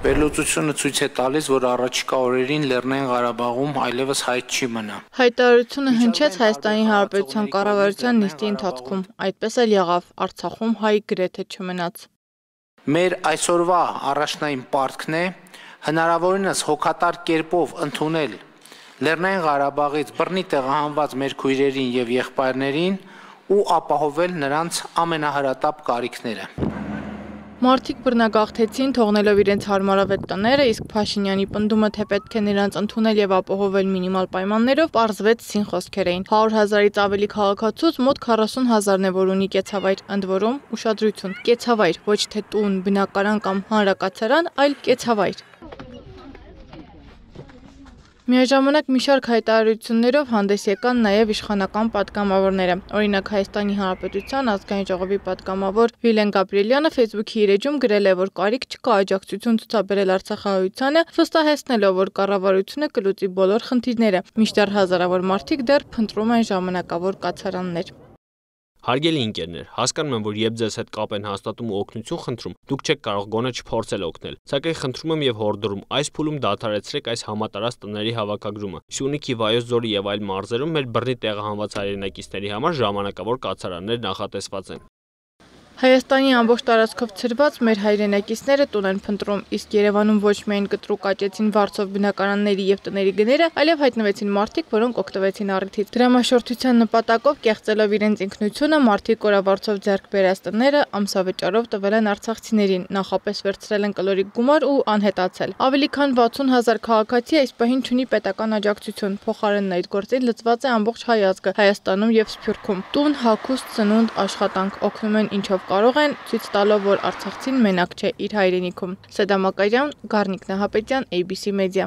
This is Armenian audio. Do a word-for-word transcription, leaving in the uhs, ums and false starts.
Վերլուծությունը ցույց է տալիս, որ առաջիկա օրերին Լեռնային Ղարաբաղում այլևս հայտ չի մնա։ Հայտարարությունը հնչեց Հայաստանի Հանրապետության կառավարության նիստի ընթացքում, այդպես էլ եղավ, Արցախում հայ գրեթե չմնաց։ Մեր այսօրվա առաջնային պարտքն է հնարավորինս հոգատար կերպով ընդունել Լեռնային Ղարաբաղից բռնի տեղահանված մեր քույրերին եւ եղբայրներին ու ապահովել նրանց ամենահրատապ կարիքները։ Մարդիկ բռնագաղթեցին, թողնելով իրենց հարմարավետ տները, իսկ Փաշինյանի պնդումը, թե պետք է նրանց ընդունել եւ ապահովել մինիմալ պայմաններով, պարզվեց սին խոսքեր էին։ հարյուր հազարից ավելի քաղաքացուց մոտ քառասուն հազարն է, որ ունի կեցավայր, ընդ որում ուշադրություն, կեցավայր, ոչ թե տուն, բնակարան կամ հանրակացարան, այլ կեցավայր։ Միաժամանակ մի շարք հայտարարություններով հանդես եկան նաև իշխանական պատգամավորները։ Օրինակ Հայաստանի Հանրապետության ազգային ժողովի պատգամավոր Վիլեն Գաբրիելյանը Facebook-ի իր էջում գրել է, որ կարիք չկա աջակցություն ցուցաբերել արցախահայությանը, վստահեցնելով, որ կառավարությունը կլուծի բոլոր խնդիրները, մինչդեռ հազարավոր մարդիկ դեռ փնտրում են ժամանակավոր կացարաններ։ Հարգելի ընկերներ, հասկանում եմ, որ երբ ձեզ հետ կապ են հաստատում ու օգնություն խնդրում, դուք չեք կարող գոնե չփորձել օգնել։ Սակայն խնդրում եմ եւ հորդորում, այս փուլում դադարեցրեք այս համատարած տների հավաքագրումը։ Սյունիքի, Վայոց ձորի եւ այլ մարզերում մեր բռնի տեղահանված հայրենակիցների համար ժամանակավոր կացարաններ նախատեսված են։ Հայաստանի ամբողջ տարածքով ցրված մեր հայրենակիցները տուն են փնտրում, իսկ Երևանում ոչ միայն կտրուկ աճեցին վարձով բնակարանների եւ տների գները, այլև հայտնվեցին մարդիկ, որոնք օգտվեցին առիթից։ Դրամաշորթության նպատակով կեղծելով իրենց ինքնությունը, մարդիկ օրավարձով ձեռք բերած տները ամսավճարով տվել են արցախցիներին, նախապես վերցրել են կլորիկ գումար ու անհետացել։ Ավելի քան վաթսուն հազար քաղաքացի այս պահին չունի պետական աջակցություն, փոխարենն այդ գործին լծված է ամբողջ հայ ազգը Հայաստանում եւ Սփյուռքում։ Տուն, հագուստ, ծնունդ, աշխատանք օգնում են ինչով կարող են, ցույց տալով, որ արցախցին մենակ չէ իր հայրենիքում։ Սեդա Մակարյան, Գառնիկ Նահապետյան, A B C Media։